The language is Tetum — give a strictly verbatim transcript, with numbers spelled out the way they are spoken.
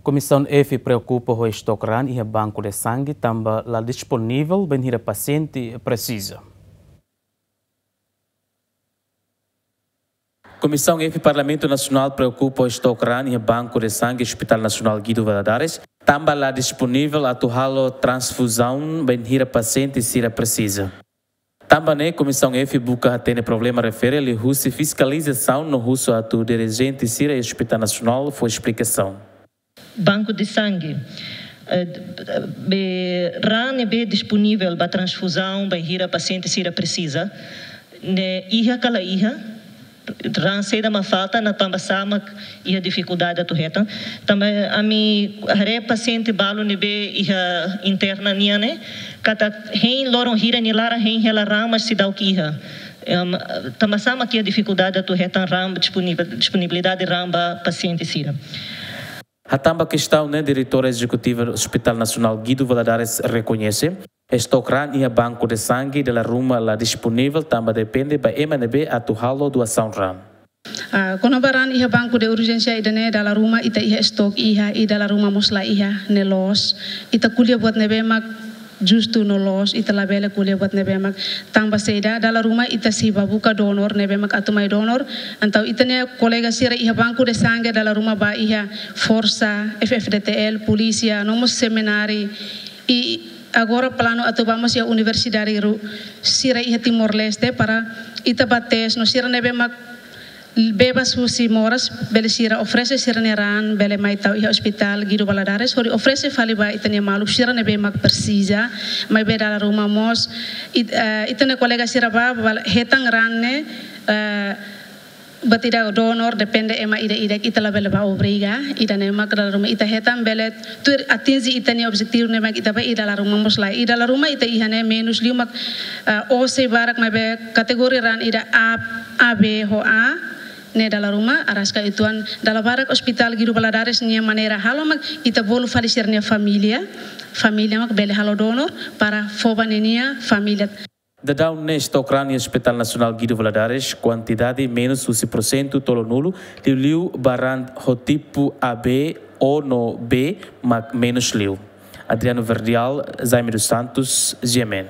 Komisaun F preokupa ho estok raan iha banku de sangue tanba la disponivel bainhira pasiente presiza. Komisaun F Parlamentu Nasionál preokupa ho estok raan iha banku de sangue Hospital Nasionál Guido Valadares, tanba la disponivel atu halo transfuzaun bainhira pasiente sira presiza. Tanba ne'e, Komisaun F buka hatene problema refere liuhusi fiskalizasaun no husu atu dirijente sira iha Hospital Nasionál fó esplikasaun. Banku de sangue, eh, be raan ne'ebé disponivel ba transfuzaun bainhira pasiente sira presiza, ne'e iha ka la iha, raan saida mak falta, no tanba sá mak iha difikuldade atu hetan. Tanba ami haree pasiente balu ne'ebé iha interna nian ne'e, katak hein loron hira nia laran hein hela raan, mas seidauk iha. Em, tanba sá mak iha difikuldade atu hetan raan disponivel, disponibilidade raan ba pasiente sira. Hatán ba kestaun ne'e, Diretora Ezekutiva Hospital Nasionál Guido Valadares rekoñese, estok raan iha banku de sangue dala ruma la disponivel tanba depende ba ema ne'ebé atu halo doasaun raan. Ah, kona-ba raan iha banku de urjénsia ida-ne'e, dala ruma ita iha estok iha, i dala ruma mós la iha, ne'e loos. Ita ko'alia buat ne'ebé mak justu no loos, ita labele ko'alia buat ne'ebé mak tanba saida, dala ruma ita sei bá buka donor ne'ebé mak atu mai donor. Entaun ita-nia kolega sira iha banku de sangue dala ruma bá iha forsa, F F D T L, polísia, no mós semináriu. I agora planu atu bá mós iha universidade ru-, sira iha Timor-Leste para ita bá tes no sira ne'ebé mak bebas husi moras, bele sira oferese sira-nia raan, bele mai tau iha Hospital Guido Valadares, hodi oferese fali ba ita-nia maluk sira ne'ebé mak presiza, maibé dala ruma mós, it-, eh, ita-nia kolega sira bá, bá hetan raan ne'e, eh, buat ida donor, depende ema ida-idak, ita labele bá obriga, ida-ne'e mak dala ruma ita hetan bele tuir atinje ita-nia objetivu ne'ebé mak ita bá, i dala ruma mós la, i dala ruma ita iha ne'e menus liu mak, eh, O C barak maibé kategoria raan ida A, A B ho A, ne'e dala ruma, araska uitoan dala barak Hospital Guido Valadares nia maneira halo mak ita bolu fali sira-nia família, família mak bele halo donor para fó ba ninia família. Daudaun ne'e estok raan iha Hospital Nasionál Guido Valadares, kuantidade menus husi porsentu tolunulu, liuliu ba raan ho tipu A B, O no B, mak menus liu. Adriano Verdial, Jaime dos Santos, G M N.